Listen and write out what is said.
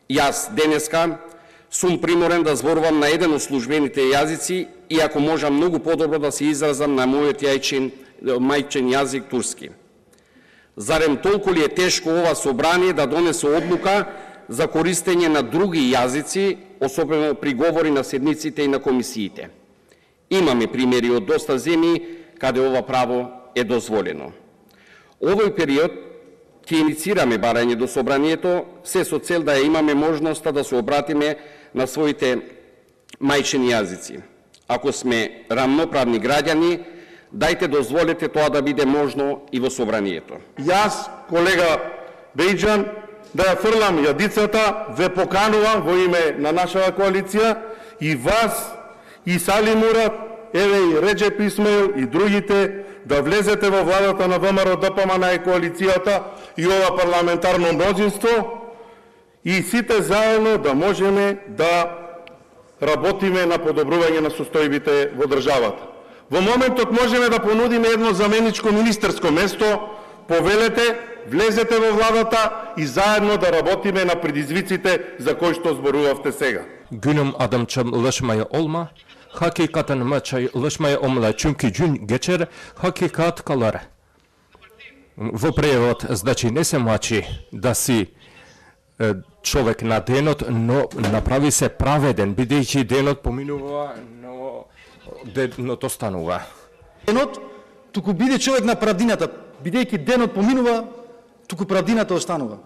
Јас денеска сум приморен да зборувам на еден од службените јазици, иако можам многу подобро да се изразам на мојот мајчин јазик турски. Зарем толку ли е тешко ова собрание да донесе одлука за користење на други јазици, особено при говори на седниците и на комисиите? Имаме примери од доста земји каде ова право е дозволено. Овој период ќе иницираме барање до собранието, се со цел да ја имаме можноста да се обратиме на своите мајчини јазици. Ако сме рамноправни граѓани, дајте дозволете тоа да биде можно и во собранието. Јас, колега Бејџан, да ја фрлам јадицата, ве поканувам во име на нашата коалиција и вас, и Сали Мурат, еве и Реджеп Исмаил и другите, да влезете во владата на ВМРО ДПМН и коалицијата и ова парламентарно мнозинство и сите заедно да можеме да работиме на подобрување на состојбите во државата. Во моментот можеме да понудиме едно заменичко министерско место, повелете, влезете во владата и заедно да работиме на предизвиците за кои што зборувавте сега. Günüm adamçam ulaşmaya olma, hakikaten maçay ulaşmaya olma, çünkü gün geçer, hakikat kalır. Во превод, значи не се мачи да си човек на денот, но направи се праведен, бидејќи денот поминува, но денот останува. Денот, туку биде човек на правдината, бидејќи денот поминува, туку правдината останува.